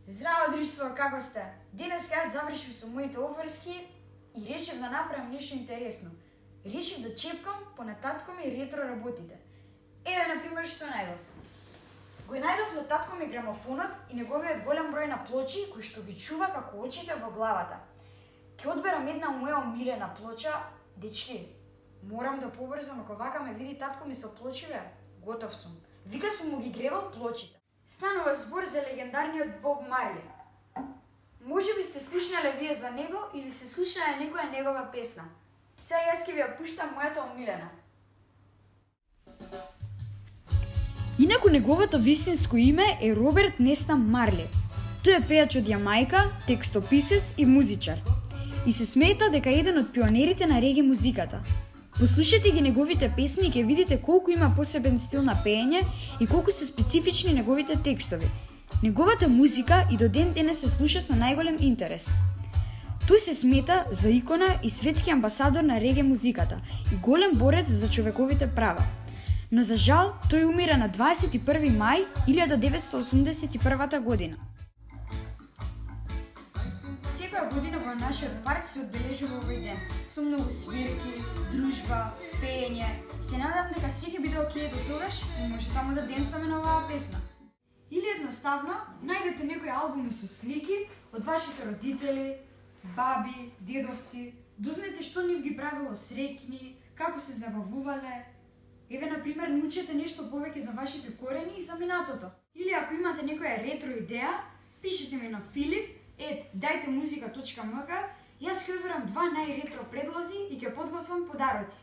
Здраво друштво, како сте? Денес јас завршив со моите обврски и решив да направам нешто интересно. Решив да чепкам по на татко ми ретро работите. Еве, например, што најдов. Го најдов на татко ми грамофонот и неговиот голем број на плочи кои што ги чува како очите во главата. Ќе одберам една моја омилена плоча. Дечки, морам да побрзам, ако вака ме види татко ми со плочиве, готов сум. Вика сум му ги гребал плочите. Станува збор за легендарниот Боб Марли. Може би сте слушнале вие за него или сте слушнале некоја негова песна. Сега јас ќе ви ја пуштам мојата омилена. Инаку неговото вистинско име е Роберт Неста Марли. Тој е пејач од Јамајка, текстописец и музичар. И се смета дека е еден од пионерите на реге музиката. Послушайте ги неговите песни и ќе видите колку има посебен стил на пеење и колку се специфични неговите текстови. Неговата музика и до ден денес се слуша со најголем интерес. Тој се смета за икона и светски амбасадор на реге музиката и голем борец за човековите права. Но за жал, тој умира на 21 мај 1981 година. Секоја година во нашиот парк се одбележува овој ден, со многу свирки, дружба, пеење. Се надам дека се ќе биде окей до тогаш и може само да денсаме на оваа песна. Или едноставно, најдете некои албуми со слики од вашите родители, баби, дедовци, дознайте што нив ги правило среќни, како се забавувале. Еве, например, научете нешто повеќе за вашите корени и за минатото. Или ако имате некоја ретро идеја, пишете ми на filip@daјтемузика.mk. Јас ќе одберам 2 најретро предлози и ќе подготвам подароци.